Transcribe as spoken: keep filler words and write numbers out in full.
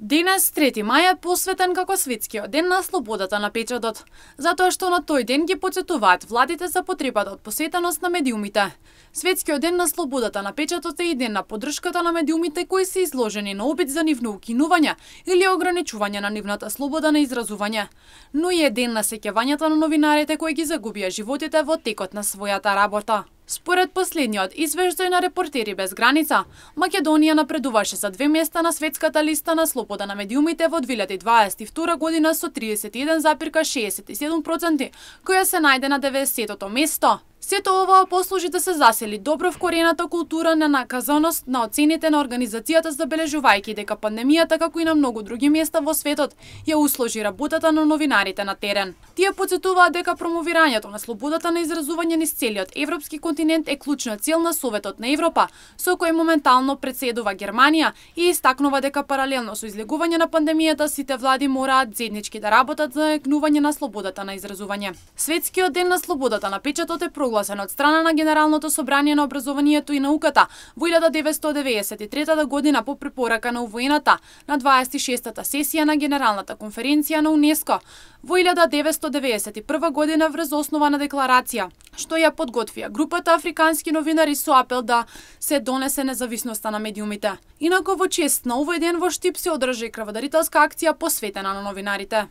Денес, трети мај, е посветен како светскиот ден на слободата на печатот, затоа што на тој ден ги потсетуваат владите за потребата од посветеност на медиумите. Светскиот ден на слободата на печатот е и ден на поддршката на медиумите кои се изложени на обид за нивно укинување или ограничување на нивната слобода на изразување, но и е ден на сеќавањето на новинарите кои ги загубија животите во текот на својата работа. Според последниот извештај на Репортери без граница, Македонија напредуваше за две места на светската листа на слобода на медиумите во две илјади дваесет и втора година со тридесет и еден запирка шеесет и седум проценти, која се најде на деветдесетото место. Сето ова послужи да се засили добро вкорената култура на наказаност на оцените на организацијата, забележувајќи дека пандемијата, како и на многу други места во светот, ја усложи работата на новинарите на терен. Тие потсетуваат дека промовирањето на слободата на изразување низ целиот европски континент е клучна цел на Советот на Европа, со кој моментално председува Германија, и истакнува дека паралелно со излегување на пандемијата сите влади мораат заеднички да работат за најгнување на слободата на изразување. Светскиот ден на слободата на печатот е прогласен од страна на Генералното собрание на образованието и науката во илјада деветстотини деведесет и трета година по препорака на У В Н-та на дваесет и шестата сесија на Генералната конференција на УНЕСКО во илјада деветстотини деведесет и прва година врз основа на декларација, што ја подготвија групата африкански новинари со апел да се донесе независноста на медиумите. Инаку во чест на овој ден во Штип се одржа и крводарителска акција посветена на новинарите.